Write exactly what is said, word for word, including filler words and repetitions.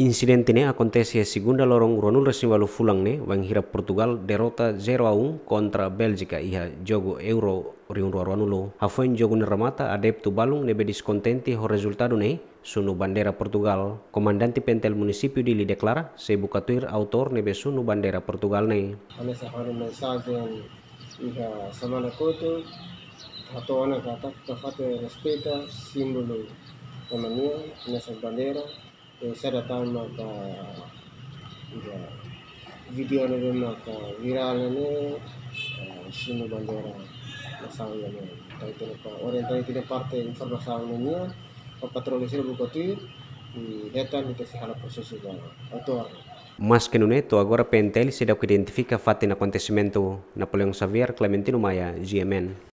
Insidente ne'e akontese iha segunda loron ruanulu resin ualu fulan ne'e, wainhira Portugal derrota zero a um kontra Bélgika iha jogu Euro rihun rua ruanulu. Hafoin jogu ne'e remata, adeptu balun ne'ebé deskontente ho rezultadu ne'e sunu bandeira Portugal. Komandante P N T L Munisípiu Dili deklara sei buka tuir autór ne'ebé sunu bandeira Portugal ne'e. Hanesan ha'u-nia mensajen iha semana kotuk, hato'o ona katak ita fatin respeita símbolu ema nian, hanesan bandeira, eh, sei datang maka, iha vídeo ne'ebé maka virál ne'e, eh, sunu bandeira nasaun ida-ne'e. Entaun ita-nia pa-, orientasaun ita-nia parte informasaun ne'e nian, ba patrullu sira buka tuir, i hetan ita sei halo prosesu ba autór. Maske nune'e, to'o agora P N T L seidauk identifika fatin akontesimentu. Napoleão Xavier, Clementino Maia, G M N.